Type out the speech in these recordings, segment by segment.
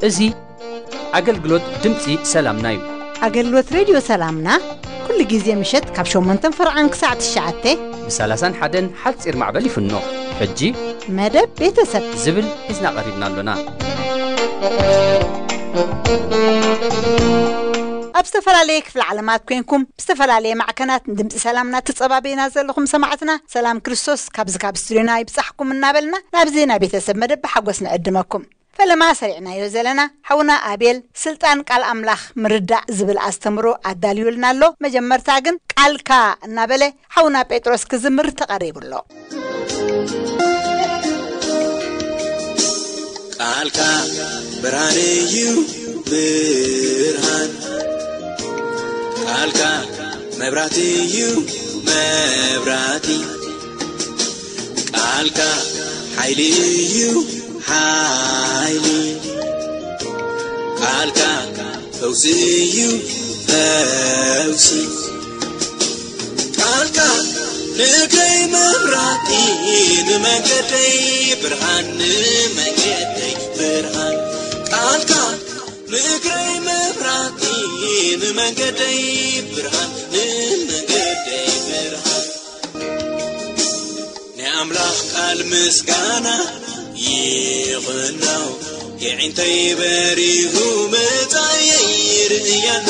እዚ ኣገልግሎት ድምፂ ሰላምና እዩ። ኣገልግሎት ሬድዮ ሰላምና ኩሉ ግዜ ምሸት ካብ ሸሞንተን ፈርዓን ክሳዕ ትሽዓተ ብ30ን ሓደን ሓፂር ማዕበል ይፍኖ። ሕጂ መደብ ቤተሰብ ዝብል ሒዝና ቀሪብና ኣሎና። ኣብ ዝተፈላለየ ክፍለ ዓለማት ኮንኩም ብዝተፈላለየ ማዕከናት ድምፂ ሰላምና ትጸባበዩና ዘለኹም ሰማዕትና፣ ሰላም ክርስቶስ ካብዚ ካብ ስቱዲዮና ይብጻሕኩም እናበልና ናብዚ ናይ ቤተሰብ መደብ ብሓጎስ ንዕድመኩም። ፈለማ ሰሪዕናዮ ዘለና ሓውና ኣቤል ስልጣን ቃል ኣምላኽ ምርዳእ ዝብል ኣስተምሮ ኣዳልዩልና ኣሎ። መጀመርታ ግን ቃልካ እናበለ ሓውና ጴጥሮስ ክዝምር ተቐሪቡ ኣሎ። ቃልካ ብርሃን እዩ፣ ብርሃን። ቃልካ መብራት እዩ፣ መብራቲ። ቃልካ ሓይሊ እዩ፣ ሓይሊ። ቃልካ ፈውሲ እዩ፣ ፈውሲ። ቃልካ ንእግረይ መብራቲ፣ ንመንገደይ ብርሃን፣ ንመንገደይ ብርሃን። ቃልካ ንእግረይ መብራቲ፣ ንመንገደይ ብርሃን፣ ንመንገደይ ብርሃን። ናይ ኣምላኽ ቃል ምስጋና ይኹኖ፣ የዒንተይ በሪሁ መጻየይ ይርእያሎ።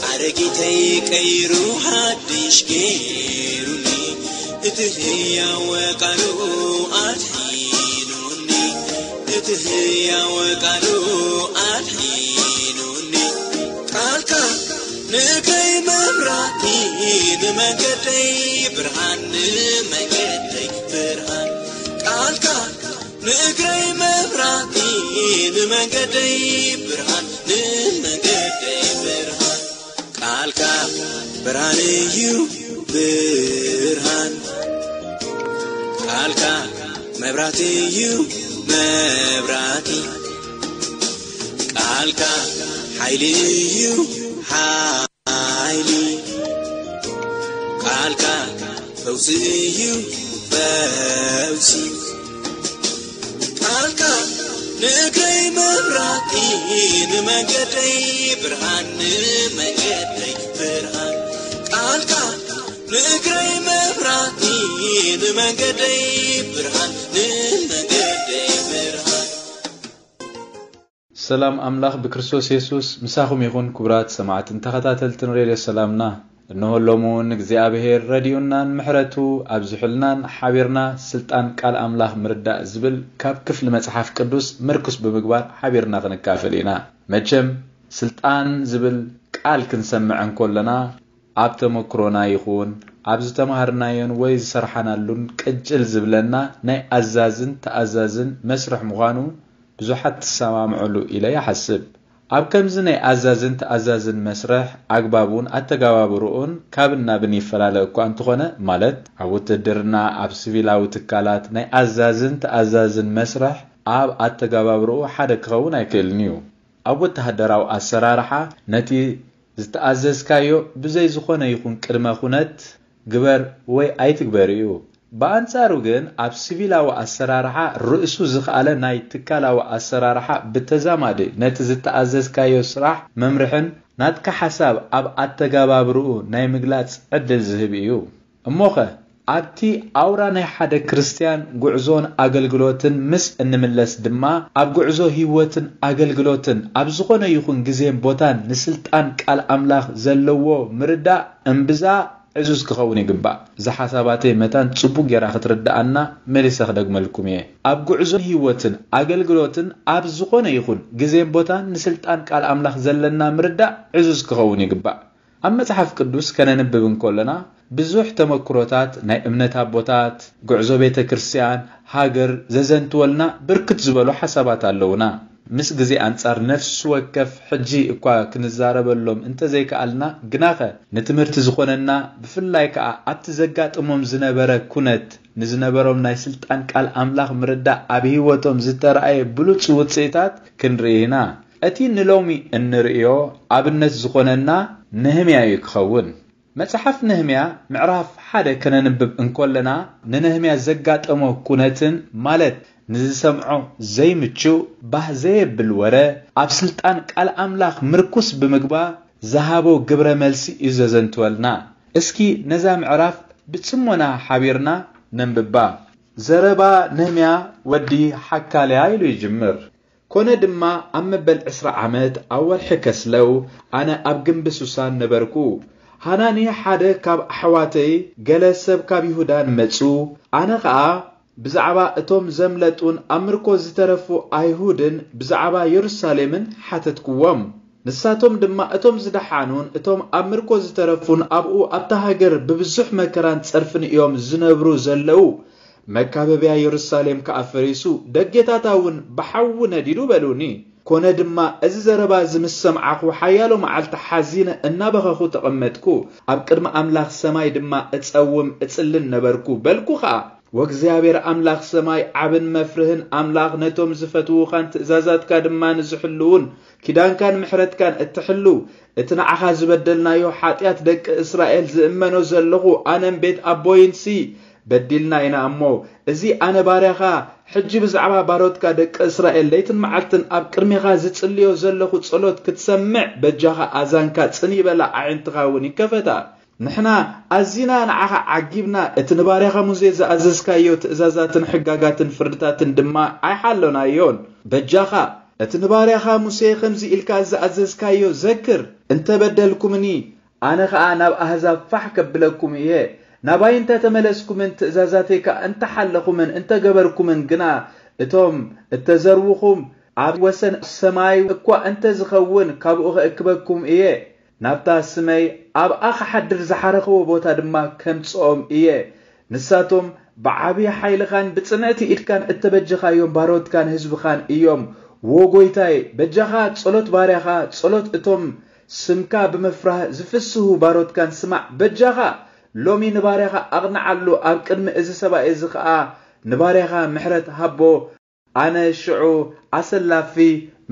ኣረጊተይ ቀይሩ ሓድሽ ገይሩኒ፣ እቲ ህያው ቃሉ ኣድሒኑኒ፣ እቲ ህያው ቃሉ ኣድሒኑኒ። ቃልካ ንእግረይ መብራቲ፣ ንመንገደይ ብርሃን፣ ንመንገደይ ብርሃን። ቃልካ ንእግረይ መብራቲ፣ ንመንገደይ ብርሃን፣ ንመንገደይ ብርሃን። ቃልካ ብርሃን እዩ፣ ብርሃን። ቃልካ መብራቲ እዩ፣ መብራቲ። ቃልካ ሓይሊ እዩ፣ ሓይሊ። ቃልካ ፈውሲ እዩ፣ ፈውሲ። ቃልካ ንእግረይ መብራቲ፣ ንመንገደይ ብርሃን፣ ንመንገደይ ብርሃን። ቃልካ ንእግረይ መብራቲ፣ ንመንገደይ ብርሃን፣ ንመንገደይ ብርሃን። ሰላም ኣምላኽ ብክርስቶስ የሱስ ምሳኹም ይኹን። ክቡራት ሰማዕትን ተኸታተልትን ሬድዮ ሰላምና፣ እነሆ ሎሚ እውን እግዚኣብሔር ረድኡናን ምሕረቱ ኣብዚሑልናን ሓቢርና ስልጣን ቃል ኣምላኽ ምርዳእ ዝብል ካብ ክፍሊ መጽሓፍ ቅዱስ ምርኩስ ብምግባር ሓቢርና ክንካፈል ኢና። መቸም ስልጣን ዝብል ቃል ክንሰምዕ እንከለና ኣብ ተመክሮና ይኹን ኣብ ዝተማሃርናዮን ወይ ዝሰርሓናሉን ቅጭል ዝብለና ናይ ኣዛዝን ተኣዛዝን መስርሕ ምዃኑ ብዙሓት ትሰማምዑሉ ኢለ ይሓስብ። ኣብ ከምዚ ናይ ኣዛዝን ተኣዛዝን መስርሕ ኣግባቡን ኣተገባብርኡን ካብን ናብን ይፈላለ እኳ እንተኾነ፣ ማለት ኣብ ውትድርና፣ ኣብ ሲቪላዊ ትካላት ናይ ኣዛዝን ተኣዛዝን መስርሕ ኣብ ኣተገባብርኡ ሓደ ክኸውን ኣይክእልን እዩ። ኣብ ወተሃደራዊ ኣሰራርሓ ነቲ ዝተኣዘዝካዮ ብዘይ ዝኾነ ይኹን ቅድመ ኩነት ግበር ወይ ኣይትግበር እዩ። ብኣንጻሩ ግን ኣብ ሲቪላዊ ኣሰራርሓ ርእሱ ዝኸኣለ ናይ ትካላዊ ኣሰራርሓ ብተዛማዲ ነቲ ዝተኣዘዝካዮ ስራሕ መምርሕን ናትካ ሓሳብ ኣብ ኣተገባብርኡ ናይ ምግላጽ ዕድል ዝህብ እዩ። እሞኸ ኣብቲ ኣውራ ናይ ሓደ ክርስትያን ጉዕዞን ኣገልግሎትን ምስ እንምለስ ድማ ኣብ ጉዕዞ ህይወትን ኣገልግሎትን ኣብ ዝኾነ ይኹን ግዜን ቦታን ንስልጣን ቃል ኣምላኽ ዘለዎ ምርዳእ እምብዛ ዕዙዝ ክኸውን ይግባእ። እዛ ሓሳባተይ መታን ጽቡቕ ጌራ ክትርድኣና መሊሰ ክደግመልኩም እየ። ኣብ ጉዕዞ ህይወትን ኣገልግሎትን ኣብ ዝኾነ ይኹን ግዜን ቦታን ንስልጣን ቃል ኣምላኽ ዘለና ምርዳእ ዕዙዝ ክኸውን ይግባእ። ኣብ መጽሓፍ ቅዱስ ከነንብብ እንከለና ብዙሕ ተመክሮታት ናይ እምነት ኣቦታት፣ ጉዕዞ ቤተ ክርስቲያን፣ ሃገር ዘዘንትወልና ብርክት ዝበሉ ሓሳባት ኣለዉና። ምስ ግዜ ኣንጻር ነፍሲ ወከፍ ሕጂ እኳ ክንዛረበሎም እንተዘይከኣልና፣ ግናኸ ንትምህርቲ ዝኾነና፣ ብፍላይ ከኣ ኣብቲ ዘጋጥሞም ዝነበረ ኩነት ንዝነበሮም ናይ ስልጣን ቃል ኣምላኽ ምርዳእ ኣብ ህይወቶም ዝተራእየ ብሉጽ ውጽኢታት ክንርኢ ኢና። እቲ ንሎሚ እንርእዮ ኣብነት ዝኾነና ነህምያ እዩ ክኸውን። መጽሓፍ ነህምያ ምዕራፍ ሓደ ከነንብብ እንኮለና፣ ንነህምያ ዘጋጠሞ ኩነትን፣ ማለት ንዝሰምዖ ዘይምቹእ ባህ ዘየብል ወረ፣ ኣብ ስልጣን ቃል ኣምላኽ ምርኩስ ብምግባር ዝሃቦ ግብረ መልሲ እዩ ዘዘንትወልና። እስኪ ነዛ ምዕራፍ ብጽሞና ሓቢርና ነንብባ። ዘረባ ነህምያ ወዲ ሓካልያ ኢሉ ይጅምር። ኮነ ድማ ኣብ መበል ዕስራ ዓመት ኣብ ወርሒ ከስለው ኣነ ኣብ ግንቢ ሱሳን ነበርኩ። ሃናኒ ሓደ ካብ ኣሕዋተይ፣ ገለ ሰብ ካብ ይሁዳን መጹ። ኣነ ኸኣ ብዛዕባ እቶም ዘምለጡን ኣብ ምርኮ ዝተረፉ ኣይሁድን ብዛዕባ የሩሳሌምን ሓተትክዎም። ንሳቶም ድማ እቶም ዝደሓኑን እቶም ኣብ ምርኮ ዝተረፉን ኣብኡ ኣብታ ሃገር ብብዙሕ መከራን ጸርፍን እዮም ዝነብሩ ዘለዉ። መካበብያ የሩሳሌም ከኣ ፈሪሱ፣ ደጌታታ እውን ብሓዊ ነዲዱ በሉኒ። ኮነ ድማ፣ እዚ ዘረባ እዚ ምስ ሰምዓኹ ሓያሎ መዓልቲ ሓዚነ እናበኸኹ ተቐመጥኩ። ኣብ ቅድሚ ኣምላኽ ሰማይ ድማ እጸውም እጽልን ነበርኩ። በልኩ ኸኣ፣ ወእግዚኣብሔር ኣምላኽ ሰማይ ዓብን መፍርህን ኣምላኽ፣ ነቶም ዝፈትዉኻን ትእዛዛትካ ድማ ንዝሕልዉን ኪዳንካን ምሕረትካን እትሕልው፣ እቲ ንዓኻ ዝበደልናዮ ሓጢኣት ደቂ እስራኤል ዝእመኖ ዘለኹ ኣነን ቤት ኣቦይንሲ በዲልና ኢና እሞ፣ እዚ ኣነ ባርያኻ ሕጂ ብዛዕባ ባሮትካ ደቂ እስራኤል ለይትን መዓልትን ኣብ ቅድሜኻ ዝጽልዮ ዘለኹ ጸሎት ክትሰምዕ በጃኻ ኣዛንካ ጽን ይበላ ኣዒንትኻ እውን ይከፈታ። ንሕና ኣዚና ንዓኻ ዓጊብና፣ እቲ ንባርያኻ ሙሴ ዝኣዘዝካዮ ትእዛዛትን ሕጋጋትን ፍርድታትን ድማ ኣይሓሎናዮን። በጃኻ እቲ ንባርያኻ ሙሴ ከምዚ ኢልካ ዝኣዘዝካዮ ዘክር። እንተ በደልኩምኒ፣ ኣነ ኸኣ ናብ ኣህዛብ ፋሕ ከብለኩም እየ። ናባይ እንተ ተመለስኩምን ትእዛዛተይ ከኣ እንተ ሓለኹምን እንተ ገበርኩምን ግና፣ እቶም እተዘርዉኹም ኣብ ወሰን ሰማይ እኳ እንተ ዝኸውን፣ ካብኡ ኸእክበኩም እየ። ናብታ ስመይ ኣብኣ ኽሓድር ዝሓረኽዎ ቦታ ድማ ከምጽኦም እየ። ንሳቶም ብዓብዪ ሓይልኻን ብጽንዕቲ ኢድካን እተበጀኻዮም ባሮትካን ህዝብኻን እዮም። ዎ ጐይታይ፣ በጃኻ ጸሎት ባርያኻ፣ ጸሎት እቶም ስምካ ብምፍራህ ዝፍስሁ ባሮትካን ስማዕ። በጃኻ ሎሚ ንባርያኻ ኣቕንዓሉ፣ ኣብ ቅድሚ እዚ ሰብኣይ እዚ ኸኣ ንባርያኻ ምሕረት ሃቦ። ኣነ ሽዑ ኣሰላፊ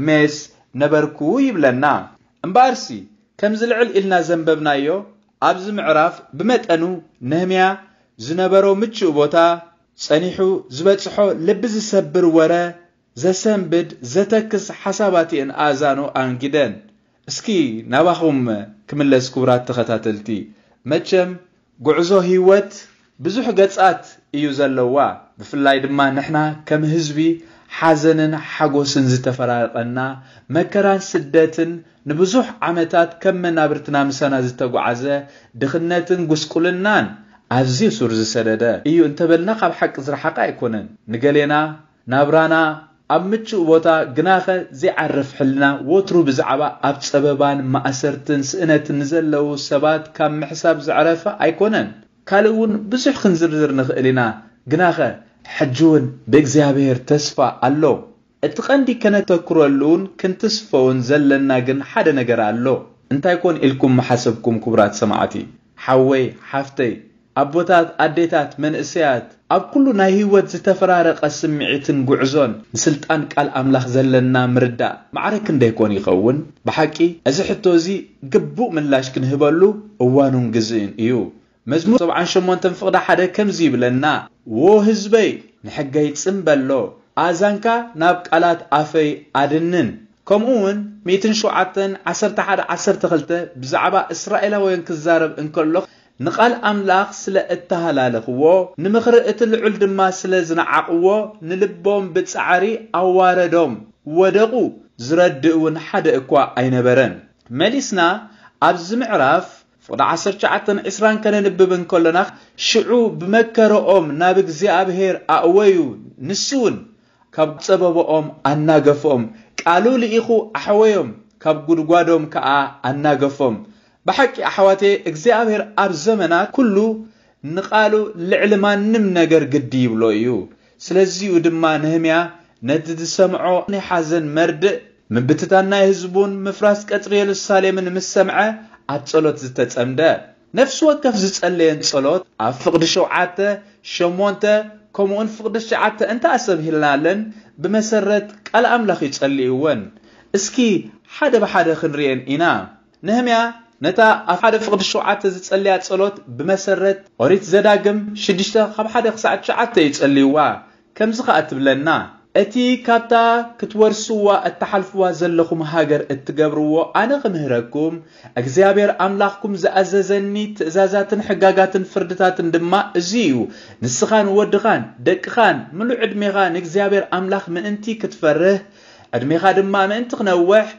ሜስ ነበርኩ ይብለና። እምበኣርሲ፣ ከምዚ ልዕል ኢልና ዘንበብናዮ፣ ኣብዚ ምዕራፍ ብመጠኑ ነህምያ ዝነበሮ ምቹእ ቦታ ጸኒሑ ዝበጽሖ ልቢ ዝሰብር ወረ ዘሰንብድ፣ ዘተክስ ሓሳባት እየን ኣእዛኑ ኣንጊደን። እስኪ ናባኹም ክምለስ ክቡራት ተኸታተልቲ። መቸም ጉዕዞ ህይወት ብዙሕ ገጻት እዩ ዘለዋ። ብፍላይ ድማ ንሕና ከም ህዝቢ ሓዘንን ሓጎስን ዝተፈራረቐና፣ መከራን ስደትን ንብዙሕ ዓመታት ከም መናብርትና ምሳና ዝተጓዓዘ፣ ድኽነትን ጉስቁልናን ኣዝዩ ሱር ዝሰደደ እዩ እንተበልና ካብ ሓቂ ዝረሓቐ ኣይኮነን። ንገሌና ናብራና ኣብ ምቹእ ቦታ ግናኸ ዘይዓርፍ ሕልና ወትሩ ብዛዕባ ኣብ ጸበባን ማእሰርትን ስእነትን ንዘለዉ ሰባት ካብ ምሕሳብ ዘዕረፈ ኣይኮነን። ካልእ እውን ብዙሕ ክንዝርዝር ንኽእል ኢና። ግናኸ ሕጂ እውን ብእግዚኣብሔር ተስፋ ኣሎ። እቲ ቐንዲ ከነተኩረሉን ክንትስፈውን ዘለና ግን ሓደ ነገር ኣሎ። እንታይ ኮን ኢልኩም ምሓሰብኩም ክቡራት ሰማዕቲ? ሓወይ፣ ሓፍተይ፣ ኣቦታት፣ ኣዴታት፣ መንእሰያት፣ ኣብ ኩሉ ናይ ህይወት ዝተፈራረቐ ስምዒትን ጉዕዞን ንስልጣን ቃል ኣምላኽ ዘለና ምርዳእ ማዕረ ክንደይ ኮን ይኸውን? ብሓቂ፣ እዚ ሕቶ እዚ ግቡእ ምላሽ ክንህበሉ እዋኑን ግዝእን እዩ። መዝሙር ሰብዓን ሸሞንተን ፍቕዲ ሓደ ከምዚ ይብለና፣ ዎ ህዝበይ፣ ንሕገይ ጽን በሎ፣ ኣእዛንካ ናብ ቃላት ኣፈይ ኣድንን። ከምኡ እውን ሚእትን ሸውዓተን ዓሰርተ ሓደ ዓሰርተ ክልተ ብዛዕባ እስራኤላውያን ክዛረብ እንከሎ፣ ንቓል ኣምላኽ ስለ እተሃላለኽዎ፣ ንምኽሪ እቲ ልዑል ድማ ስለ ዝነዓቕዎ፣ ንልቦም ብጻዕሪ ኣዋረዶም፣ ወደቑ፣ ዝረድእ እውን ሓደ እኳ ኣይነበረን። መሊስና ኣብዚ ምዕራፍ ፍቕዲ ዓሰርተ ትሽዓተን ዕስራን ከነንብብ እንከሎና፣ ሽዑ ብመከረኦም ናብ እግዚኣብሔር ኣእወዩ፣ ንሱ እውን ካብ ጸበባኦም ኣናገፎም፣ ቃሉ ልኢኹ ኣሕወዮም፣ ካብ ጉድጓዶም ከኣ ኣናገፎም። ብሓቂ ኣሕዋተየ፣ እግዚኣብሔር ኣብ ዘመናት ኩሉ ንቓሉ ልዕሊ ማንም ነገር ግዲ ይብሎ እዩ። ስለዚኡ ድማ ነህምያ ነቲ ዝሰምዖ ናይ ሓዘን መርድእ፣ ምብትታን ናይ ህዝቡን ምፍራስ ቀጽሪ የሩሳሌምን ምስ ሰምዐ፣ ኣብ ጸሎት ዝተጸምደ። ነፍሲ ወከፍ ዝጸለየን ጸሎት ኣብ ፍቕዲ ሸውዓተ፣ ሸሞንተ፣ ከምኡውን ፍቕዲ ትሽዓተ እንተ ኣሰብሂልናለን፣ ብመሰረት ቃል ኣምላኽ ይጸልይወን። እስኪ ሓደ ብሓደ ክንርእየን ኢና። ነህምያ ነታ ኣብ ሓደ ፍቕዲ ሸውዓተ ዝጸልያ ጸሎት ብመሰረት ኦሪት ዘዳግም ሽዱሽተ ካብ ሓደ ክሳዕ ትሽዓተ ይጸልይዋ። ከምዚ ኸኣ ትብለና፣ እቲ ካብታ ክትወርስዋ እትሓልፍዋ ዘለኹም ሃገር እትገብርዎ ኣነ ክምህረኩም፣ እግዚኣብሔር ኣምላኽኩም ዝኣዘዘኒ ትእዛዛትን ሕጋጋትን ፍርድታትን ድማ እዚ እዩ። ንስኻን ወድኻን ደቅኻን ምሉእ ዕድሜኻ ንእግዚኣብሔር ኣምላኽ ምእንቲ ክትፈርህ፣ ዕድሜኻ ድማ ምእንቲ ክነውሕ፣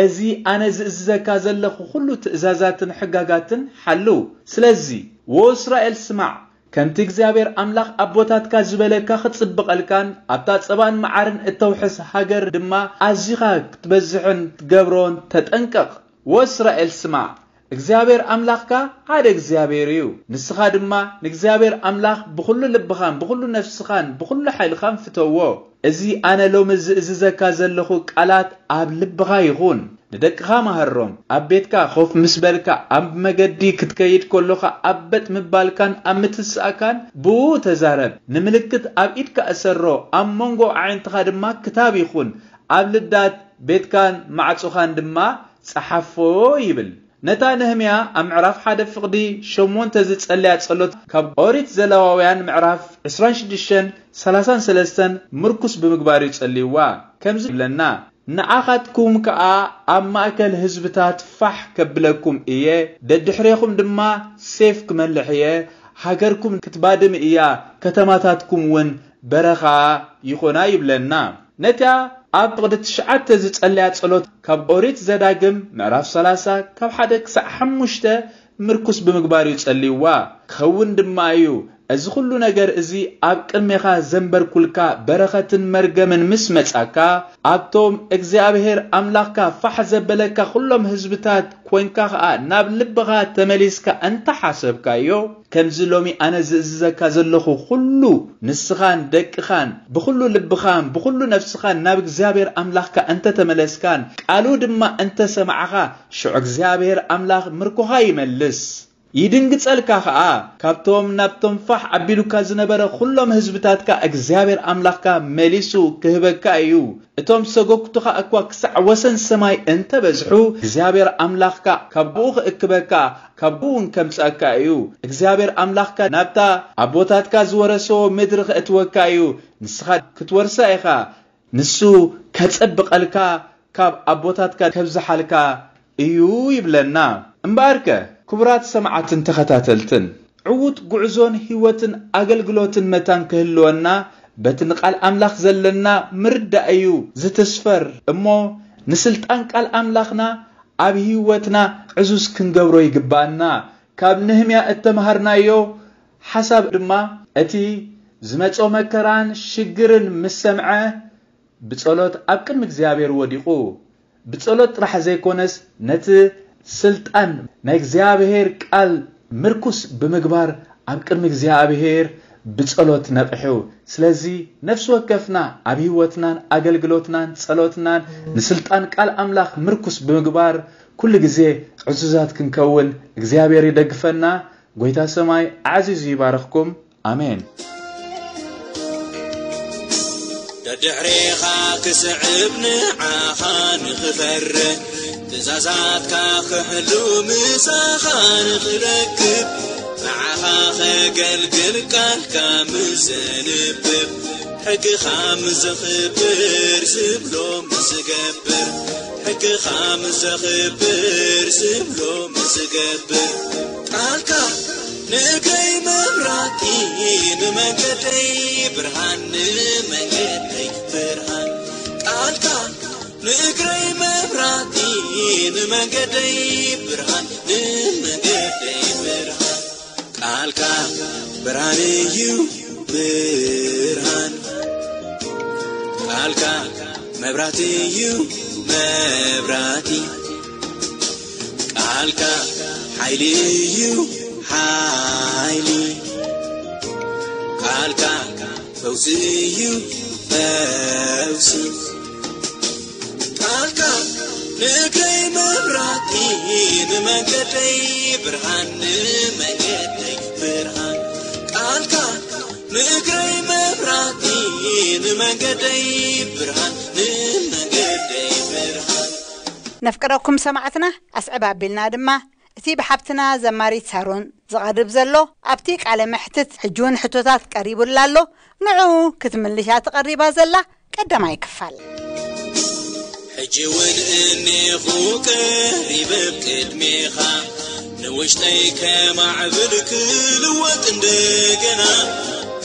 እዚ ኣነ ዝእዝዘካ ዘለኹ ኹሉ ትእዛዛትን ሕጋጋትን ሓሉ። ስለዚ፣ ወ እስራኤል ስማዕ፣ ከምቲ እግዚኣብሔር ኣምላኽ ኣቦታትካ ዝበለካ ክጽብቐልካን ኣብታ ጸባን መዓርን እተውሕስ ሃገር ድማ ኣዚኻ ክትበዝሕን ክትገብሮን ተጠንቀቕ። ወ እስራኤል ስማዕ፣ እግዚኣብሔር ኣምላኽካ ሓደ እግዚኣብሔር እዩ። ንስኻ ድማ ንእግዚኣብሔር ኣምላኽ ብኹሉ ልብኻን ብኹሉ ነፍስኻን ብኹሉ ሓይልኻን ፍተዎ። እዚ ኣነ ሎሚ ዝእዝዘካ ዘለኹ ቃላት ኣብ ልብኻ ይኹን። ንደቅኻ መሃሮም። ኣብ ቤትካ ኮፍ ምስ በልካ፣ ኣብ መገዲ ክትከይድ ከሎኻ ኣብ በጥ ምባልካን ኣብ ምትስኣካን ብኡ ተዛረብ። ንምልክት ኣብ ኢድካ እሰሮ፣ ኣብ መንጎ ኣዒንትኻ ድማ ክታብ ይኹን። ኣብ ልዳት ቤትካን ማዕጾኻን ድማ ጸሓፎ ይብል። ነታ ነህምያ ኣብ ምዕራፍ ሓደ ፍቕዲ ሸሞንተ ዝጸለያ ጸሎት ካብ ኦሪት ዘለዋውያን ምዕራፍ ዕስራን ሽዱሽተን ሰላሳን ሰለስተን ምርኩስ ብምግባር እዩ ጸልይዋ። ከምዚ ይብለና፣ ንዓኻትኩም ከኣ ኣብ ማእከል ህዝብታት ፋሕ ከብለኩም እየ፣ ደድሕሬኹም ድማ ሴፍ ክመልሕ እየ፣ ሃገርኩም ክትባድም እያ፣ ከተማታትኩም እውን በረኻ ይኾና ይብለና። ነታ ኣብ ፍቕዲ ትሽዓተ ዝጸለያ ጸሎት ካብ ኦሪት ዘዳግም ምዕራፍ ሰላሳ ካብ ሓደ ክሳዕ ሓሙሽተ ምርኩስ ብምግባር እዩ ጸልይዋ። ክኸውን ድማ እዩ፣ እዚ ኹሉ ነገር እዚ ኣብ ቅድሜኻ ዘንበርኩልካ በረኸትን መርገምን ምስ መጻካ፣ ኣብቶም እግዚኣብሔር ኣምላኽካ ፋሕ ዘበለካ ኹሎም ህዝብታት ኮይንካ ኸኣ ናብ ልብኻ ተመሊስካ እንተ ሓሰብካዮ፣ ከምዚ ሎሚ ኣነ ዝእዝዘካ ዘለኹ ኹሉ ንስኻን ደቅኻን ብኹሉ ልብኻን ብኹሉ ነፍስኻን ናብ እግዚኣብሔር ኣምላኽካ እንተ ተመለስካን ቃሉ ድማ እንተ ሰማዕኻ፣ ሽዑ እግዚኣብሔር ኣምላኽ ምርኮኻ ይመልስ። ይድንግጸልካ ኸኣ፣ ካብቶም ናብቶም ፋሕ ኣቢሉካ ዝነበረ ኹሎም ህዝብታትካ እግዚኣብሔር ኣምላኽካ መሊሱ ክህበካ እዩ። እቶም ሰጎግቱኻ እኳ ክሳዕ ወሰን ሰማይ እንተ በዝሑ፣ እግዚኣብሔር ኣምላኽካ ካብ ብኡ ክእክበካ፣ ካብ ብኡ እውን ከምጽኣካ እዩ። እግዚኣብሔር ኣምላኽካ ናብታ ኣቦታትካ ዝወረስዎ ምድሪ ከእትወካ እዩ። ንስኻ ክትወርሳ ኢኻ። ንሱ ከጸብቐልካ፣ ካብ ኣቦታትካ ከብዝሓልካ እዩ ይብለና። እምበኣርከ፣ ክቡራት ሰማዕትን ተኸታተልትን፣ ዕዉት ጉዕዞን ህይወትን ኣገልግሎትን መታን ክህልወና፣ በቲ ንቃል ኣምላኽ ዘለና ምርዳእ እዩ ዝትስፈር እሞ፣ ንስልጣን ቃል ኣምላኽና ኣብ ህይወትና ዕዙዝ ክንገብሮ ይግባኣና። ካብ ነህምያ እተምሃርናዮ ሓሳብ ድማ፣ እቲ ዝመጾ መከራን ሽግርን ምስ ሰምዐ፣ ብጸሎት ኣብ ቅድሚ እግዚኣብሔር ወዲቑ። ብጸሎት ጥራሕ ዘይኮነስ፣ ነቲ ስልጣን ናይ እግዚኣብሔር ቃል ምርኩስ ብምግባር ኣብ ቅድሚ እግዚኣብሔር ብጸሎት ነቕሑ። ስለዚ ነፍሲ ወከፍና ኣብ ህይወትናን ኣገልግሎትናን ጸሎትናን ንስልጣን ቃል ኣምላኽ ምርኩስ ብምግባር ኩሉ ግዜ ዕዙዛት ክንከውን እግዚኣብሔር ይደግፈና። ጎይታ ሰማይ ኣዕዚዙ ይባርኽኩም። ኣሜን። ደድሕሬኻ ክስዕብ ንዓኻ ንኽፈርህ፣ ትእዛዛትካ ክሕሉ ምሳኻ ንኽረክብ፣ ንዓኻ ኸገልግል ቃልካ ምስ ዘንብብ፣ ሕግኻ ምስ ዘኽብር ዝብሎ ምስ ዝገብር፣ ሕግኻ ምስ ዘኽብር ዝብሎ ምስ ዝገብር፣ ቃልካ ንእግረይ መብራህቲ፣ ንመንገደይ ብርሃን፣ ንመንገደይ ብርሃን። ቃልካ ንእግረይ መብራህቲ፣ ንመንገደይ ብርሃን፣ ንመንገደይ ብርሃን። ቃልካ ብርሃን እዩ ብርሃን፣ ቃልካ መብራህቲ እዩ መብራህቲ፣ ቃልካ ሓይሊ እዩ ሓይሊ፣ ቃልካ ፈውሲ እዩ ፈውሲ። ቃልካ ንእግረይ መብራህቲ፣ ንመንገደይ ብርሃን፣ ንመንገደይ ብርሃን። ቃልካ ንእግረይ መብራህቲ፣ ንመንገደይ ብርሃን፣ ንመንገደይ ብርሃን። ነፍቅረኩም ሰማዕትና፣ ኣስዕብ ኣቢልና ድማ እቲ ብሓብትና ዘማሪት ሳሮን ዝቐርብ ዘሎ ኣብቲ ቃለ መሕትት ሕጂ እውን ሕቶታት ቀሪቡላ ኣሎ። ንዕኡ ክትምልሻ ተቐሪባ ዘላ ቀዳማይ ክፋል። ሕጂ እውን እኔኹ ቀሪበ ኣብ ቅድሜኻ፣ ንውሽጠይ ከማዕብል ክልወጥ እንደገና።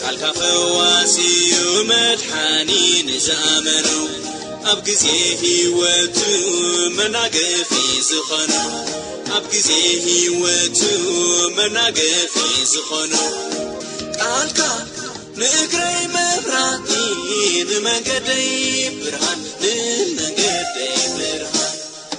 ቃልካ ፈዋሲዩ መድሓኒ ንዝኣመኑ፣ ኣብ ግዜ ህይወቱ መናገፊ ዝኾኑ፣ ኣብ ግዜ ህይወቱ መናገፊ ዝኾኑ። ቃልካ ንእግረይ መብራህቲ፣ ንመንገደይ ብርሃን፣ ንመንገደይ ብርሃን።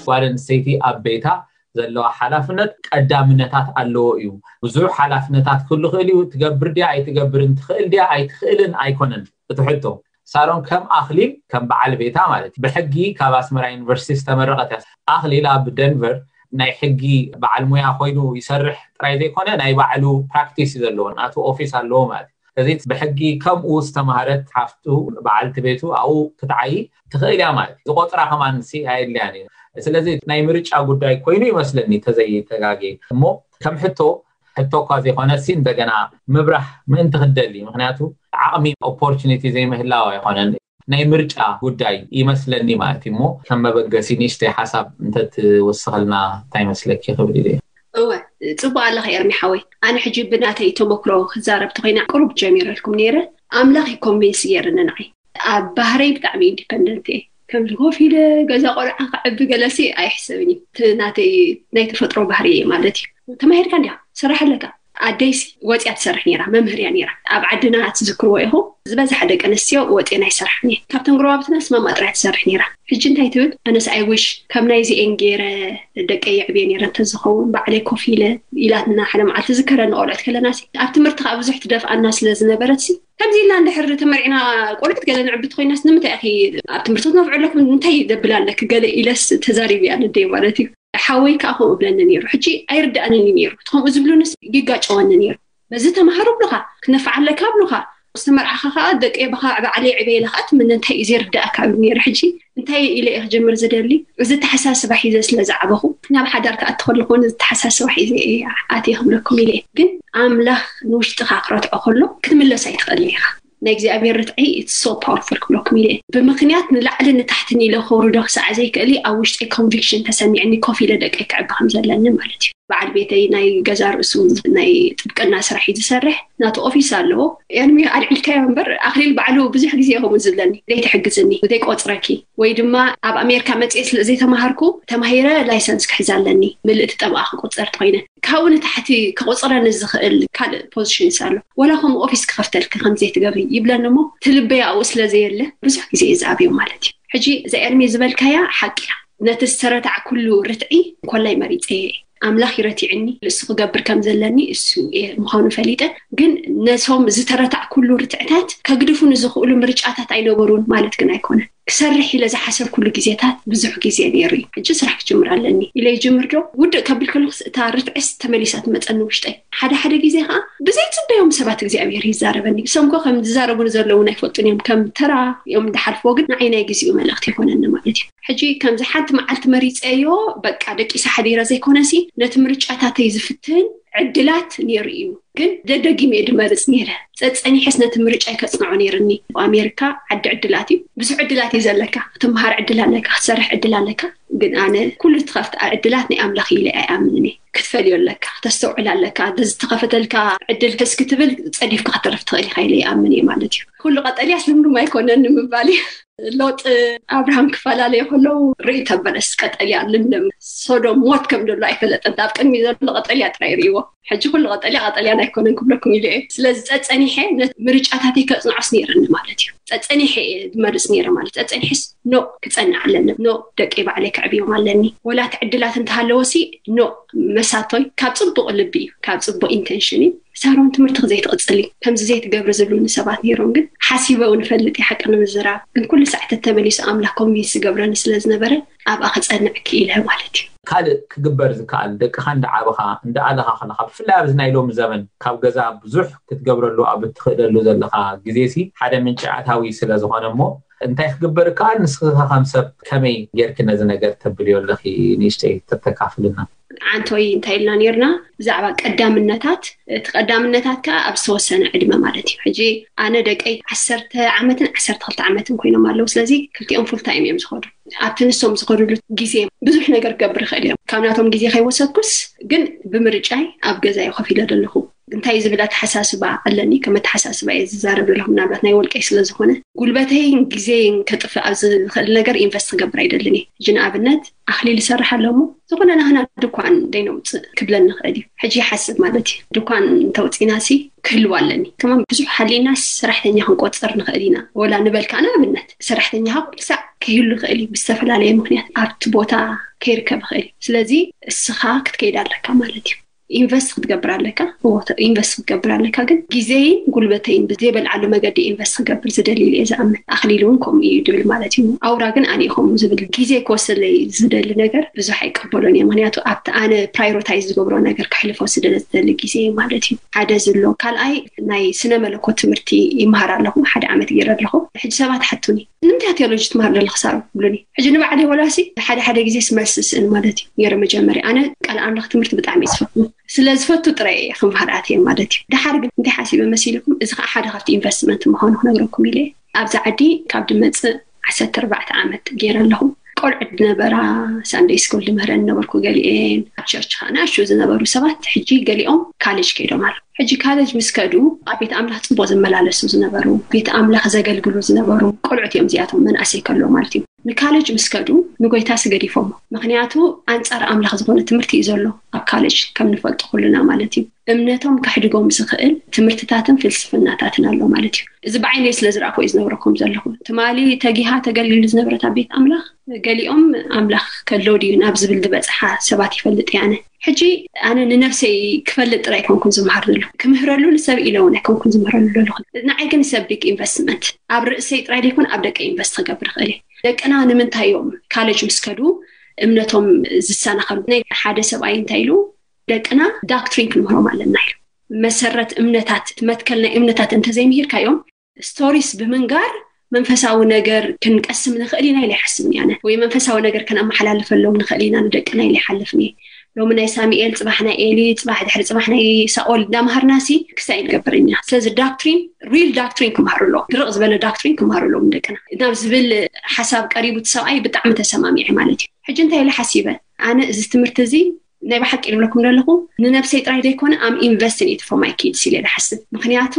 ጓል ኣንስተይቲ ኣብ ቤታ ዘለዋ ሓላፍነት ቀዳምነታት ኣለዎ እዩ። ብዙሕ ሓላፍነታት ክህሉ ይኽእል እዩ። ትገብር ድያ ኣይትገብርን፣ ትኽእል ድያ ኣይትኽእልን ኣይኮነን እቲ ሕቶ። ሳሮን ከም ኣኽሊል፣ ከም በዓል ቤታ ማለት እዩ። ብሕጊ ካብ ኣስመራ ዩኒቨርሲቲ ዝተመረቐት እያ። ኣኽሊል ኣብ ደንቨር ናይ ሕጊ በዓል ሙያ ኮይኑ ይሰርሕ ጥራይ ዘይኮነ፣ ናይ ባዕሉ ፕራክቲስ እዩ ዘለዎ፣ ናቱ ኦፊስ ኣለዎ ማለት እዩ። እዚ ብሕጊ ከምኡ ዝተማህረት ሓፍቱ፣ በዓልቲ ቤቱ ኣብኡ ክትዓዪ ትኽእል እያ ማለት እዩ። ዝቆጽራ ከማን ሲ ኣየድልያን እዩ። ስለዚ ናይ ምርጫ ጉዳይ ኮይኑ ይመስለኒ፣ ተዘይተጋጌ። እሞ ከም ሕቶ፣ ሕቶ እኳ ዘይኮነ ሲ፣ እንደገና ምብራህ ምእንቲ ክትደሊ፣ ምኽንያቱ ዓቕሚ፣ ኦፖርቹኒቲ ዘይምህላው ኣይኮነን፣ ናይ ምርጫ ጉዳይ ይመስለኒ ማለት እዩ። እሞ ከም መበገሲ ንእሽተይ ሓሳብ እንተትወስኸልና እንታይ ይመስለኪ ክብል ኢለ። እወ፣ ጽቡቅ ኣለኺ ኤርሚ ሓወይ። ኣነ ሕጂ ብናተይ ተመክሮ ክዛረብ ተኾይና፣ ቁሩብ ጀሚረልኩም ነይረ። ኣምላኽ እዩ ኮንቪንስ ገይርኒ ንዓይ። ኣብ ባህረይ ብጣዕሚ ኢንዲፐንደንት እየ። ከምዚ ኮፍ ኢለ ገዛ ቆልዓ ክዕቢ ገለሲ ኣይሕሰብን እዩ። እቲ ናተይ ናይ ተፈጥሮ ባህሪ እየ ማለት እዩ። ተማሂርካ እንዲኻ፣ ስራሕ ኣለካ። ኣደይሲ ወፂያ ትሰርሕ ነይራ፣ መምህር እያ ነይራ። ኣብ ዓድና ትዝክርዎ ኢኹም፣ ዝበዝሓ ደቂ ኣንስትዮ ወፂኤን ኣይሰርሓን እየን። ካብተን ጎረባብትና ስማማ ጥራይ ትሰርሕ ነይራ። ሕጂ እንታይ ትብል? ኣነስ ኣይ ዊሽ ከም ናይዚኤን ገይረ ደቀይ የዕብየ ነይረ እንተዝኸውን፣ ባዕለይ ኮፍ ኢለ ኢላትና ሓደ መዓልቲ ዝከረኒ ቆልዑት ከለና ሲ፣ ኣብ ትምህርቲ ከዓ ብዙሕ ትደፍኣና ስለ ዝነበረት ሲ፣ ከምዚ ኢልና እንድሕር ተመርዒና ቆልዑት ገለ ንዕቢ ተኮይናስ ንምንታይ ኢኺ ኣብ ትምህርቲ ክትነፍዑ ኣለኩም? እንታይ ደብል ኣለኪ? ገለ ኢለስ ተዛሪበያ ነደይ ማለት እዩ። ሓወይ ከዓ ከምኡ እብለኒ ነይሩ። ሕጂ ኣይርድኣንን እዩ ነይሩ። እቲ ከምኡ ዝብሉንስ ይጋጨወኒ ነይሩ። በዚ ተምሃሩ ብሉኻ፣ ክነፍዓ ኣለካ ብሉኻ፣ ዝተመርዓኻ ከዓ ደቂ የባኻ ባዕለይ ዕበየላ ከዓ ትምነ እንታይ እዩ ዘይርድኣካ እብል ነይሩ። ሕጂ እንታይ ኢለ እየ ክጀምር ዝደሊ? እዚ ተሓሳስባ ሒዘ ስለ ዝዓበኹ ናብ ሓዳር ክኣቲ ከለኹ እውን እዚ ተሓሳስባ ሒዘ እየ ኣትየ ክብለኩም ኢለ እየ። ግን ኣምላኽ ንውሽጥኻ ክረትዖ ከሎ ክትምለስ ኣይትኽእልን ኢኻ። ናይ እግዚኣብሔር ርትዒ it's so powerful ክብለኩም ኢለ እየ። ብምኽንያት ንላዕሊ ንታሕትን ኢለ ከውርዶ ክሳዕ ዘይክእል ኣብ ውሽጠይ ኮንቪክሽን ተሰሚዕኒ ኮፍ ኢለ ደቀይ ክዕቢ ከም ዘለኒ ማለት እዩ። በዓል ቤተይ ናይ ገዛ ርእሱ ናይ ጥብቅና ስራሕ እዩ ዝሰርሕ፣ ናቱ ኦፊስ ኣለዎ። ኤርሚ ኣልዒልካዮ እምበር ኣኽሊል ባዕሉ ብዙሕ ግዜ ከምኡ ዝብለኒ፣ ዘይትሕግዝኒ፣ ዘይቆፅረኪ ወይ ድማ ኣብ ኣሜሪካ መፅኤ ስለ ዘይተማሃርኩ ተማሂረ ላይሰንስ ክሕዝ ኣለኒ፣ ምልእቲ ጠበቓ ክቆፀር ተኮይነ ካብኡ ንታሕቲ ክቆፅረኒ ዝኽእል ካልእ ፖዚሽንስ ኣሎ፣ ወላ ከምኡ ኦፊስ ክኸፍተልኪ ከምዘይትገብሪ ይብለኒ እሞ ትልበይ ኣብኡ ስለ ዘየለ ብዙሕ ግዜ እዩ ዝኣብዮ ማለት እዩ። ሕጂ እዛ ኤርሚ ዝበልካያ ሓቂ እያ። ነቲ ዝተረታዕኩሉ ርትዒ ኮላይ መሪፀ እየ። ኣምላኽ ይረቲዕኒ፣ ንሱ ክገብር ከም ዘለኒ እሱ እየ ምዃኑ ፈሊጠ። ግን ነቶም ዝተረታዕኩሉ ርትዕታት ከግድፉ ንዝኽእሉ ምርጫታት ኣይነበሩን ማለት ግን ኣይኮነን። ክሰርሕ ኢለ ዝሓሰብኩሉ ግዜታት ብዙሕ ግዜ ነይሩ እዩ። ሕጂ ስራሕ ክጅምር ኣለኒ ኢለ ይጅምር ዶ? ውድእ ከብል ከለኹስ እታ ርትዕስ ተመሊሳ ትመፀኒ ውሽጠይ። ሓደ ሓደ ግዜ ከዓ ብዘይፅበዮም ሰባት እግዚኣብሔር ይዛረበኒ። እሶም ኮ ከም ዝዛረቡኒ ዘለዉ እውን ኣይፈልጡን እዮም። ከም ተራ እዮም ዝሓልፍዎ፣ ግን ንዓይ ናይ ግዜኡ መልእኽቲ ይኾነኒ ማለት እዩ። ሕጂ ከምዚ ሓንቲ መዓልቲ መሪፀዮ በቃ ደቂሰ ሓዲረ ዘይኮነሲ ነቲ ምርጫታተይ ዝፍትን ዕድላት ነይሩ እዩ። ግን ደደጊመ እየ ድመርፅ ነይረ። ፀፀኒሐስ ነቲ ምርጫይ ከፅንዖ ነይርኒ። ኣሜሪካ ዓዲ ዕድላት እዩ። ብዙሕ ዕድላት እዩ ዘለካ። ክትምሃር ዕድል ኣለካ፣ ክትሰርሕ ዕድል ኣለካ። ግን ኣነ ኩሉ ትኸፍት ዕድላት ናይ ኣምላኽ ኢለ ኣይኣምንን እየ። ክትፈልዮ ኣለካ፣ ክተስተውዕል ኣለካ። ዝተኸፈተልካ ዕድል ሕስ ክትብል ፀዲፍካ ከተርፍ ትኽእል ኢኻ ኢለ ይኣምን እየ ማለት እዩ። ኩሉ ቀጠልያ ስልምሉም ኣይኮነን ንምባል እዩ። ሎጥ ኣብርሃም ክፈላለዩ ከለዉ ርኢ ተበለስ ቀጠልያ ልምልም ሶዶም ሞት ከም ዘሎ ኣይፈለጠን። ኣብ ቅድሚ ዘሎ ቀጠልያ ጥራይ ርእዎ። ሕጂ ኩሉ ቀጠልያ ቀጠልያን ኣይኮነን ክብለኩም ኢለ እየ። ስለዚ ፀፀኒሐ ምርጫታተይ ከፅንዖስ ነይረኒ ማለት እዩ። ፀፀኒሐ እየ ዝመርፅ ነይረ ማለት። ፀፀኒሐስ ኖ ክፀንዕ ኣለኒ፣ ኖ ደቂ ባዕለይ ከዕብዮም ኣለኒ። ወላ እቲ ዕድላት እንተሃለወሲ ኖ መሳቶይ ካብ ፅቡቅ ልቢ እዩ፣ ካብ ፅቡቅ ኢንቴንሽን እዩ። ሳሮን ትምህርቲ ዘይትቕፅሊ ከምዚ ዘይትገብሪ ዝብሉኒ ሰባት ነይሮም። ግን ሓሲበ እውን እፈልጥ እየ፣ ሓቂ ንምዝራብ። ግን ኩሉ ሳዕ ተመሊሱ ኣምላኽ ኮንቪንስ ዝገብረኒ ስለ ዝነበረ ኣብኣ ክፀንዕ ክኢለ ማለት እዩ። ካልእ ክግበር ዝከኣል፣ ደቅኻ እንዳዓበኻ እንዳኣለኻ ከለኻ፣ ብፍላይ ኣብዚ ናይ ሎሚ ዘመን ካብ ገዛ ብዙሕ ክትገብረሉ ኣብ እትኽእለሉ ዘለኻ ግዜ ሲ ሓደ ምንጪ ኣታዊ ስለ ዝኾነ እሞ እንታይ ክግበር ይከኣል? ንስኺ ከም ሰብ ከመይ ጌርኪ ነዚ ነገር ተብልዮ ኣለኺ? ንእሽተይ ተተካፍልና። ዓንቶይ እንታይ ኢልና ነርና ብዛዕባ ቀዳምነታት። እቲ ቀዳምነታት ከዓ ኣብ ዝተወሰነ ዕድመ ማለት እዩ። ሕጂ ኣነ ደቀይ ዓሰርተ ዓመትን ዓሰርተ ክልተ ዓመትን ኮይኖም ኣለዉ። ስለዚ ክልቲኦም ፉል ታይም እዮም ዝኸዱ። ኣብቲ ንሶም ዝኸዱሉ ግዜ ብዙሕ ነገር ክገብር ይኽእል እዮም። ካብ ናቶም ግዜ ከይወሰድኩስ ግን ብምርጫይ ኣብ ገዛይ ኮፍ ኢለ ዘለኹ። እንታይ ዝብል ኣተሓሳስባ ኣለኒ፣ ከም ኣተሓሳስባ እየ ዝዛረብ ዘለኹ። ምናልባት ናይ ወልቀይ ስለ ዝኾነ ጉልበተይን ግዜይን ከጥፍእ ኣብ ዝኽእል ነገር ኢንቨስት ክገብር ኣይደልን እየ። ሕጂ ንኣብነት ኣኽሊል ይሰርሕ ኣሎ እሞ ዝኾነ ናህና ድኳን ደይነውፅእ ክብለኒ ይኽእል እዩ። ሕጂ ይሓስብ ማለት እዩ። ድኳን እንተውፂና ሲ ክህልው ኣለኒ። ከማን ብዙሕ ሓሊና ሰራሕተኛ ክንቆፅር ንኽእል ኢና። ወላ ንበልካ ንኣብነት ሰራሕተኛ ካብ ኩሉ ሳዕ ከይህሉ ይኽእል እዩ። ብዝተፈላለየ ምክንያት ኣብቲ ቦታ ከይርከብ ይኽእል እዩ። ስለዚ እስኻ ክትከይድ ኣለካ ማለት እዩ። ኢንቨስት ክትገብር ኣለካ። ኢንቨስት ክትገብር ኣለካ፣ ግን ግዜይን ጉልበተይን ብዘይበልዓሉ መገዲ ኢንቨስት ክገብር ዝደሊ ኢለ ዝኣምን። ኣኽሊል እውን ከምኡ እዩ ድብል ማለት እዩ። ኣውራ ግን ኣነ ከምኡ ዝብል ግዜ ክወስደለይ ዝደሊ ነገር ብዙሕ ኣይቀበሎን እየ። ምክንያቱ ኣብቲ ኣነ ፕራዮሪታይዝ ዝገብሮ ነገር ክሕልፎ ስለ ዝደሊ ግዜ ማለት እዩ። ሓደ ዝሎ ካልኣይ ናይ ስነ መለኮት ትምህርቲ ይመሃር ኣለኹ። ሓደ ዓመት ገይረ ኣለኹ። ሕጂ ሰባት ሓቱኒ ንምንታይ ቴዎሎጂ ትመሃር ዘለኺ ሳሮ ብሉኒ። ሕጂ ንባዕለይ ወላሲ ሓደ ሓደ ግዜ ስመልሲ ስእን ማለት እዩ። ገይረ መጀመርያ ኣነ ቃል ኣምላኽ ትምህርቲ ብጣዕሚ ዝፈትኑ ስለ ዝፈቱ ጥራይ እየ ክምሃር ኣትየ ማለት እዩ። ድሓር ግን እንታይ ሓሲበ መሲልኩም፣ እዚ ከዓ ሓደ ካብቲ ኢንቨስትመንት ምዃኑ ክነግረኩም ኢለ ኣብዚ ዓዲ ካብ ድመፅእ ዓሰርተ ኣርባዕተ ዓመት ገይረ ኣለኹ። ቆልዑ ዝነበራ ሳንደይ ስኩል ድምህረን ነበርኩ። ገሊኤን ኣብ ቸርች ከዓ ንኣሽቱ ዝነበሩ ሰባት ሕጂ ገሊኦም ካሌጅ ከይዶም ኣለዉ። ሕጂ ካሌጅ ምስ ከዱ ኣብ ቤት ኣምላኽ ፅቡቅ ዝመላለሱ ዝነበሩ፣ ቤት ኣምላኽ ዘገልግሉ ዝነበሩ ቆልዑት እዮም እዚኣቶም፣ መናእሰይ ከሎ ማለት እዩ። ንካሌጅ ምስ ከዱ ንጎይታ ስገዲፎሞ። ምክንያቱ ኣንፃር ኣምላኽ ዝኾነ ትምህርቲ እዩ ዘሎ ኣብ ካሌጅ ከም ንፈልጦ ኩሉና ማለት እዩ። እምነቶም ከሕድጎም ዝኽእል ትምህርትታትን ፍልስፍናታትን ኣሎ ማለት እዩ። እዚ ብዓይነይ ስለ ዝረኣኹ እዩ ዝነግረኩም ዘለኹ። ትማሊ ተጊሃ ተገልግል ዝነበረት ኣብ ቤት ኣምላኽ ገሊኦም ኣምላኽ ከሎ ድዩ ናብ ዝብል ዝበፅሓ ሰባት ይፈልጥ እየ ኣነ። ሕጂ ኣነ ንነብሰይ ክፈልጥ ጥራይ ኣይኮንኩን ዝመሃር ዘለኹ፣ ክምህረሉ ንሰብ ኢለ እውን ኣይኮንኩን ዝምህረሉ ዘለኹ። ንዓይ ግን ሰብ ቢግ ኢንቨስትመንት ኣብ ርእሰይ ጥራይ ዘይኮነ ኣብ ደቀ ኢንቨስት ክገብር ይኽእል እየ። ደቅና ንምንታይ እዮም ካሌጅ ምስ ከዱ እምነቶም ዝሰናኸሉ? ናይ ሓደ ሰብኣይ እንታይ ኢሉ፣ ደቅና ዳክትሪን ክንምህሮም ኣለና ኢሉ። መሰረት እምነታት፣ መትከል ናይ እምነታት እንተዘይምሂርካዮም ስቶሪስ ብምንጋር መንፈሳዊ ነገር ክንቀስም ንኽእል ኢና ኢለ ይሓስብ እየ ኣነ። ወይ መንፈሳዊ ነገር ከነመሓላልፈሎም ንኽእል ኢና ንደቅና ኢለ ይሓልፍ እየ። ሎሚ ናይ ሳሙኤል፣ ፅባሕ ናይ ኤሊ፣ ፅባሕ ድሕሪ ፅባሕ ናይ ሳኦል እንዳምሃርና ሲ ክስታይ ንገብር ኢና። ስለዚ ዳክትሪን፣ ሪል ዳክትሪን ክምሃሩ ኣለዎም። ድርቕ ዝበለ ዳክትሪን ክምሃሩ ኣለዎም ደቅና ናብ ዝብል ሓሳብ ቀሪቡ እቲ ሰብኣይ ብጣዕሚ ተሰማሚዐ ማለት እዩ። ሕጂ እንታይ ኢለ ሓሲበ፣ ኣነ እዚ ትምህርቲ እዚ ናይ ብሓቂ ዝብለኩም ዘለኹ ንነብሰይ ጥራይ ዘይኮነ ኣም ኢንቨስትን ኢት ፎር ማይ ኪድስ ኢለ ዝሓስብ። ምክንያቱ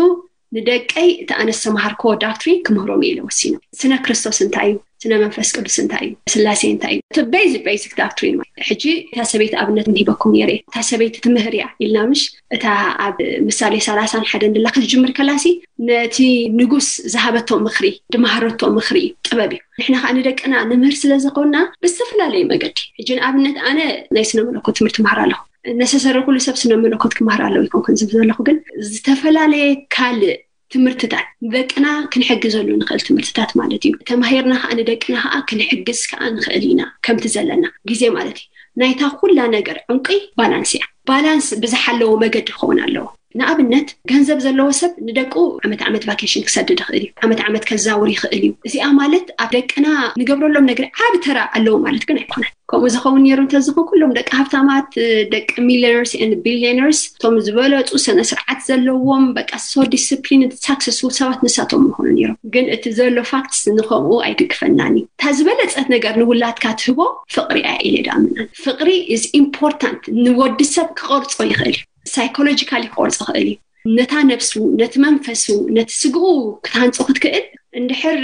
ንደቀይ እቲ ኣነ ዝተምሃርክዎ ዳክትሪን ክምህሮም እየ ኢለ ወሲነ። ስነ ክርስቶስ እንታይ እዩ? ስነ መንፈስ ቅዱስ እንታይ እዩ? ስላሴ እንታይ እዩ? እቲ ቤዚክ ቤዚክ ዳክትሪን ማለት። ሕጂ እታ ሰበይቲ ኣብነት ሂበኩም ነይረ። እታ ሰበይቲ ትምህር እያ ኢልና ምሽ፣ እታ ኣብ ምሳሌ ሰላሳን ሓደን ድላ ክትጅምር ከላሲ ነቲ ንጉስ ዝሃበቶ ምኽሪ፣ ድማሃረቶ ምኽሪ እዩ፣ ጥበብ እዩ። ንሕና ከዓ ንደቅና ንምህር ስለ ዝኾንና ብዝተፈላለየ መገዲ፣ ሕጂ ንኣብነት ኣነ ናይ ስነ መለኮት ትምህርቲ መሃር ኣለኹ። ነሰሰሪ ኩሉ ሰብ ስነ መለኮት ክመሃር ኣለዎ ይኮንኩን ዝብል ዘለኹ፣ ግን ዝተፈላለየ ካልእ ትምህርትታት ንደቅና ክንሕግዘሉ ንኽእል ትምህርትታት ማለት እዩ። ተማሂርና ከዓ ንደቅና ከዓ ክንሕግዝ ከዓ ንኽእል ኢና፣ ከምቲ ዘለና ግዜ ማለት እዩ። ናይታ ኩላ ነገር ዕንቂ ባላንስ እያ። ባላንስ ብዝሓለዎ መገዲ ክኸውን ኣለዎ። ንኣብነት ገንዘብ ዘለዎ ሰብ ንደቁ ዓመት ዓመት ቫኬሽን ክሰድድ ይኽእል እዩ። ዓመት ዓመት ከዛውር ይኽእል እዩ። እዚኣ ማለት ኣብ ደቅና ንገብረሎም ነገር ዓቢ ተራ ኣለዎ ማለት ግን ኣይኮነን። ከምኡ ዝኸውን ነይሩ እንተዝኾን ኩሎም ደቂ ሃብታማት፣ ደቂ ሚሊዮነርስ ን ቢሊዮነርስ፣ እቶም ዝበለፁ ስነ ስርዓት ዘለዎም፣ በቃ ሶ ዲስፕሊን ሳክሰስፉል ሰባት ንሳቶም ምኾኑ ነይሮም። ግን እቲ ዘሎ ፋክትስ ንኸምኡ ኣይድግፈናን እዩ። እታ ዝበለፀት ነገር ንውላድካ ትህቦ ፍቕሪ እያ ኢለ ዳኣምናን። ፍቕሪ ኢዝ ኢምፖርታንት፣ ንወዲ ሰብ ክቐርፆ ይኽእል እዩ። ሳይኮሎጂካሊ ክቆርፅ ይኽእል እዩ። ነታ ነብሱ፣ ነቲ መንፈሱ፣ ነቲ ስግኡ ክትሃንፆ ክትክእል። እንድሕር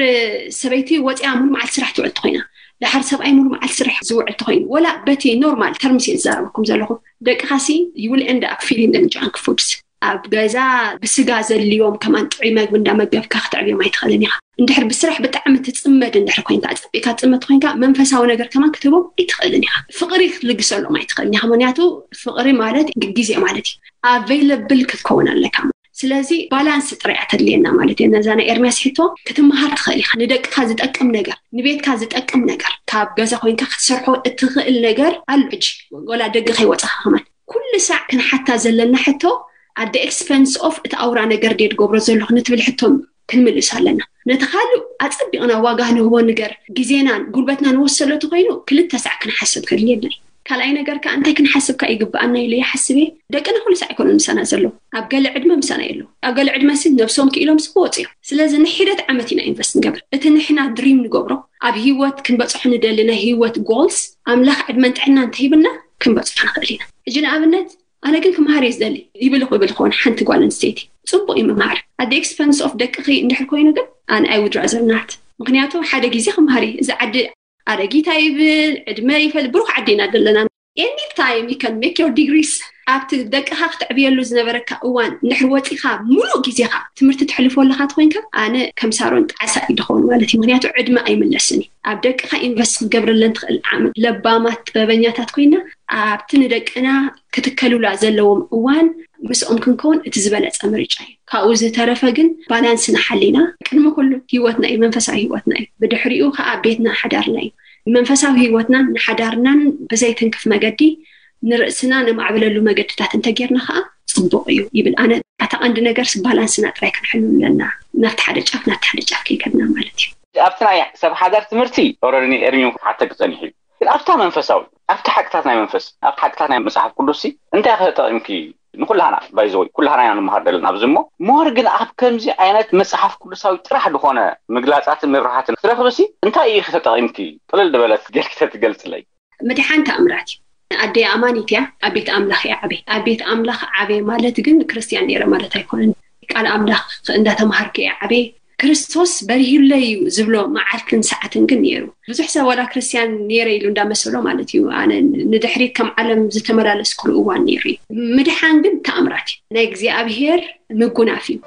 ሰበይቲ ወፂኣ ሙሉ መዓልቲ ስራሕ ትውዕል ተኮይና፣ ድሓር ሰብኣይ ሙሉ መዓልቲ ስራሕ ዝውዕል ተኮይኑ፣ ወላ በቲ ኖርማል ተርምስ እየ ዝዛረበኩም ዘለኹ፣ ደቅኻሲ you will end up feeding them junk foods። ኣብ ገዛ ብስጋ ዘድልዮም ከማን ጥዑይ መግቢ እንዳመገብካ ክተዕብዮም ኣይትኽእልን ኢኻ። እንድሕር ብስራሕ ብጣዕሚ ትፅመድ እንድሕር ኮይንካ፣ ፀቢካ ትፅመድ ኮይንካ፣ መንፈሳዊ ነገር ከማን ክትህቦም ኣይትኽእልን ኢኻ። ፍቕሪ ክትልግሰሎም ኣይትኽእልን ኢኻ። ምክንያቱ ፍቕሪ ማለት ግዜ ማለት እዩ። ኣቬይለብል ክትከውን ኣለካ። ስለዚ ባላንስ ጥራይ እያ ተድልየና ማለት እዩ። ነዛ ናይ ኤርሚያስ ሕቶ ክትመሃር ትኽእል ኢኻ። ንደቅካ ዝጠቅም ነገር፣ ንቤትካ ዝጠቅም ነገር፣ ካብ ገዛ ኮይንካ ክትሰርሖ እትኽእል ነገር ኣሎ። ሕጂ ወላ ደገ ከይወፃኻ ከማን ኩሉ ሳዕ ክንሓታ ዘለና ሕቶ፣ ኣደ ኤክስፐንስ ኦፍ እቲ ኣውራ ነገር ድየ ትገብሮ ዘለኹ ንትብል ሕቶ ክንምልስ ኣለና። ነቲ ካልእ ኣጸቢቕና ዋጋ ንህቦ ነገር፣ ግዜናን ጉልበትና ንወሰሎ ተኮይኑ ክልተ ሳዕ ክንሓስብ ከድልየና እዩ። ካልኣይ ነገር ከኣ እንታይ ክንሓስብ ከኣ ይግብኣና ኢለ ይሓስብ እየ። ደቅና ኩሉ ሳዕ ኣይኮኑን ምሳና ዘለዉ። ኣብ ገለ ዕድመ ምሳና የለዉ። ኣብ ገለ ዕድመ ሲ ነብሶም ክኢሎም ሲ ክወፁ እዮም። ስለዚ ንሒደት ዓመት ኢና ኢንቨስት ንገብር። እቲ ንሕና ድሪም ንገብሮ፣ ኣብ ህይወት ክንበፅሖ ንደሊ ናይ ህይወት ጎልስ፣ ኣምላኽ ዕድመን ጥዕና እንተሂብና ክንበፅሖ ንኽእል ኢና። ሕጂ ንኣብነት ኣነ ግን ክምሃር እየ ዝደሊ ይብል ክብል ክኾን ሓንቲ ጓል ኣንስተይቲ ጽቡቕ እዩ ምምሃር። ኣደ ኤክስፐንስ ኦፍ ደቅኺ እንድሕር ኮይኑ ግን ኣነ ኣይ ውድ ራዘር ናት። ምክንያቱ ሓደ ግዜ ክምሃር እየ። እዚ ዓዲ ኣረጊታ ይብል ዕድመ ይፈል ብሩክ ዓዲ ኢና ዘለና። ኤኒ ታይም ዩ ካን ሜክ ዮር ዲግሪስ። ኣብቲ ደቅኻ ክትዕብየሉ ዝነበረካ እዋን እንድሕር ወፂኻ ሙሉእ ግዜኻ ትምህርቲ ትሕልፎ ኣለኻ ተኮይንካ ኣነ ከም ሳሮን ጣዕሳ እዩ ድኸውን ማለት እዩ። ምክንያቱ ዕድመ ኣይምለስን እዩ። ኣብ ደቅኻ ኢንቨስት ክትገብረለን ትኽእል ዓመት ለባማት ጥበበኛታት ኮይና ኣብቲ ንደቅና ክትከሉላ ዘለዎም እዋን ምስኦም ክንከውን እቲ ዝበለጸ ምርጫ እዩ። ካብኡ ዝተረፈ ግን ባላንስና ሓሊና ቅድሚ ኩሉ ህይወትና እዩ፣ መንፈሳዊ ህይወትና እዩ። ብድሕሪኡ ከዓ ቤትና ሓዳርና እዩ። መንፈሳዊ ህይወትናን ንሓዳርናን ብዘይትንክፍ መገዲ ንርእስና ነማዕብለሉ መገድታት እንተጌርና ከዓ ጽቡቕ እዩ ይብል። ኣነ ኣታ ቀንዲ ነገርስ ባላንስና ጥራይ ክንሕሉ ኣለና፣ ናብቲ ሓደ ጫፍ ናብቲ ሓደ ጫፍ ከይከድና ማለት እዩ። ኣብቲ ናይ ሰብ ሓዳር ትምህርቲ ኦረዲ ኤርሚም ክሓተክ ጸኒሑ እዩ። ግን ኣብታ መንፈሳዊ ኣብቲ ሓቅታት ናይ መንፈስ ኣብቲ ሓቅታት ናይ መጽሓፍ ቅዱስ እንታይ ከተጠቂምኪ ንኩላህና ባይዘወይ ኩላህና ኢና ንምሃር ዘለና ኣብዚ እሞ ሞር ግን ኣብ ከምዚ ዓይነት መጽሓፍ ቅዱሳዊ ጥራሕ ዝኾነ ምግላጻትን ምብርሃትን ክትረኽብሲ እንታይ እዩ ተጠቂምኪ ቅልል ዝበለት ጌርኪ ተትገልጽለይ። ምድሓን ተኣምራት እዩ። ኣደይ ኣማኒት እያ። ኣብ ቤት ኣምላኽ እያ ዓበይ ኣብ ቤት ኣምላኽ ዓበይ ማለት ግን ክርስትያን ነረ ማለት ኣይኮነን። ቃል ኣምላኽ እንዳተማሃርኩ እያ ዓበይ። ክርስቶስ በሪሁለይ እዩ ዝብሎ መዓልትን ሰዓትን ግን ነይሩ። ብዙሕ ሰብ ዋላ ክርስትያን ነረ ኢሉ እንዳመሰሎ ማለት እዩ። ኣነ ንድሕሪት ከም ዓለም ዝተመላለስኩሉ እዋን ነይሩ እዩ። ምድሓን ግን ተኣምራት እዩ። ናይ እግዚኣብሄር ምጉናፍ እዩ።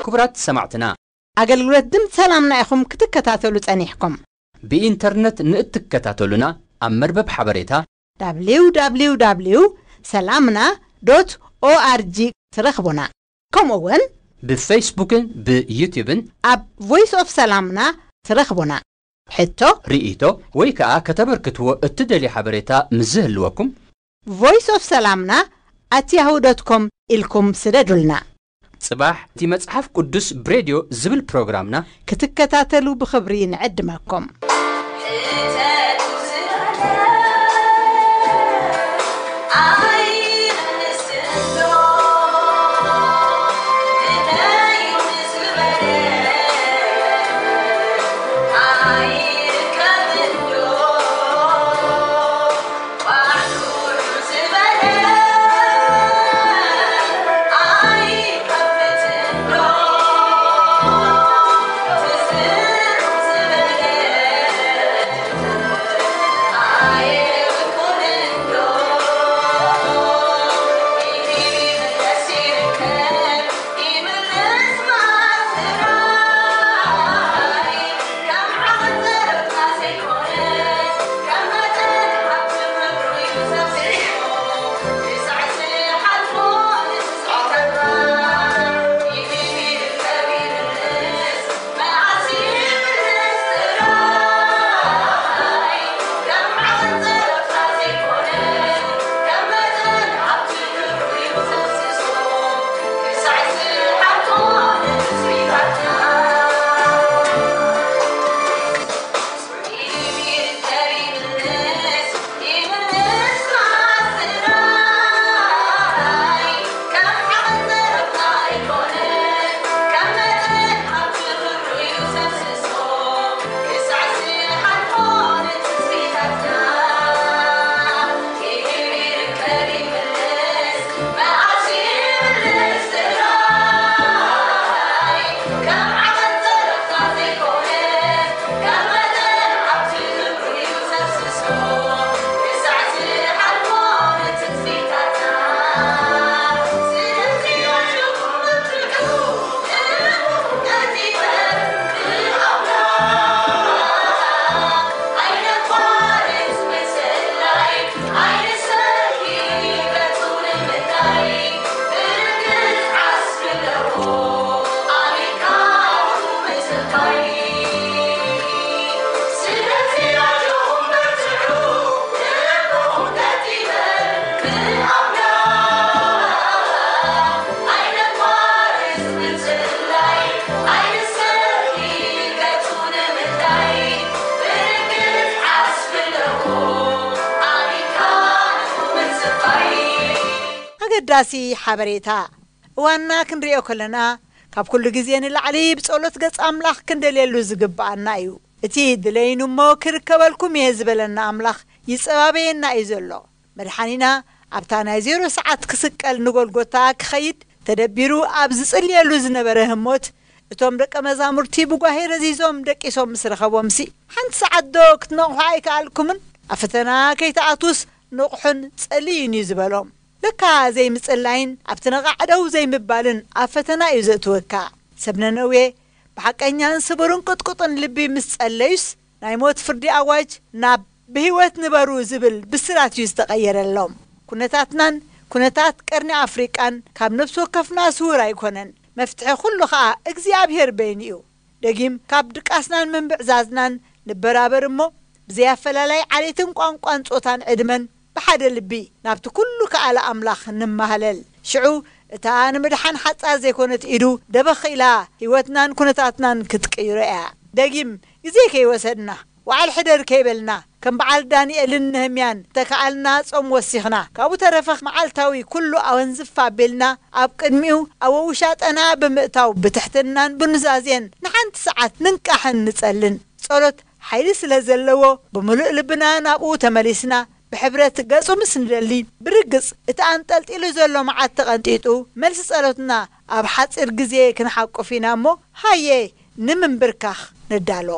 ክቡራት ሰማዕትና ኣገልግሎት ድምፂ ሰላምና ኢኹም ክትከታተሉ ጸኒሕኩም። ብኢንተርነት ንእትከታተሉና ኣብ መርበብ ሓበሬታ www ሰላምና ዶት ኦኣርጂ ትረኽቡና። ከምኡ እውን ብፌስቡክን ብዩቲብን ኣብ ቮይስ ኦፍ ሰላምና ትረኽቡና። ሕቶ፣ ርእይቶ ወይ ከዓ ከተበርክትዎ እትደልዩ ሓበሬታ ምስ ዝህልወኩም voice of salamna at yahoo dot com ኢልኩም ስደዱልና። ጽባሕ እቲ መጽሓፍ ቅዱስ ብሬድዮ ዝብል ፕሮግራምና ክትከታተሉ ብኽብሪ ንዕድመኩም። ኣገዳሲ ሓበሬታ። እዋንና ክንሪኦ ከለና፣ ካብ ኩሉ ግዜ ንላዕሊ ብጸሎት ገጽ ኣምላኽ ክንደልየሉ ዝግብኣና እዩ። እቲ ድለይኑ እሞ ክርከበልኩም እየ ዝበለና ኣምላኽ ይጸባበየና እዩ ዘሎ። መድሓኒና ኣብታ ናይ ዜሮ ሰዓት ክስቀል ንጎልጎታ ክኸይድ ተደቢሩ ኣብ ዝጽልየሉ ዝነበረ ህሞት፣ እቶም ደቀ መዛሙርቲ ብጓሄ ረዚዞም ደቂሶም ምስ ረኸቦምሲ፣ ሓንቲ ሰዓት ዶ ክትነቕሑ ኣይከኣልኩምን? ኣብ ፈተና ከይትኣትዉስ ንቕሑን ጸልዩን እዩ ዝበሎም። ለካ ዘይምጽላይን ኣብቲ ነቓዕ ደው ዘይምባልን ኣብ ፈተና እዩ ዘእትወካ። ሰብ ነነዌ ብሓቀኛን ስቡርን ቅጥቁጥን ልቢ ምስ ጸለዩስ፣ ናይ ሞት ፍርዲ ኣዋጅ ናብ ብህይወት ንበሩ ዝብል ብስራት እዩ ዝተቐየረሎም። ኩነታትናን ኩነታት ቀርኒ ኣፍሪቃን ካብ ነፍሲ ወከፍና ስውር ኣይኮነን። መፍትሒ ኩሉ ኸኣ እግዚኣብሔር በይኑ እዩ። ደጊም ካብ ድቃስናን ምንብዕዛዝናን ንበራበር እሞ፣ ብዘይ ኣፈላላይ ዓሌትን ቋንቋን ጾታን ዕድመን ብሓደ ልቢ ናብቲ ኩሉ ከኣለ ኣምላኽ ንማህለል። ሽዑ እታ ንምድሓን ሓጻር ዘይኮነት ኢዱ ደበኽ ኢላ ህይወትናን ኩነታትናን ክትቅይሮ እያ። ደጊም ግዜ ከይወሰድና፣ ወዓል ሕደር ከይበልና፣ ከም በዓል ዳንኤልን ነህምያን ተከኣልና ጾም ወሲኽና፣ ካብኡ ተረፈ መዓልታዊ ኩሉ ኣወንዝፍ ኣቢልና ኣብ ቅድሚኡ ኣብ ውሻጠና ብምእታው ብትሕትናን ብኑዛዜን ንሓንቲ ሰዓት ንንቃሕን ንጸልን። ጸሎት ሓይሊ ስለ ዘለዎ ብምሉእ ልብና ናብኡ ተመሊስና ብሕብረት ገጹ ምስ ንደሊ፣ ብርግጽ እቲ ኣንጠልጢሉ ዘሎ መዓት ተቐንጢጡ፣ መልሲ ጸሎትና ኣብ ሓጺር ግዜ ክንሓቁፍ ኢና እሞ፣ ሃየ ንምንብርካኽ ንዳሎ።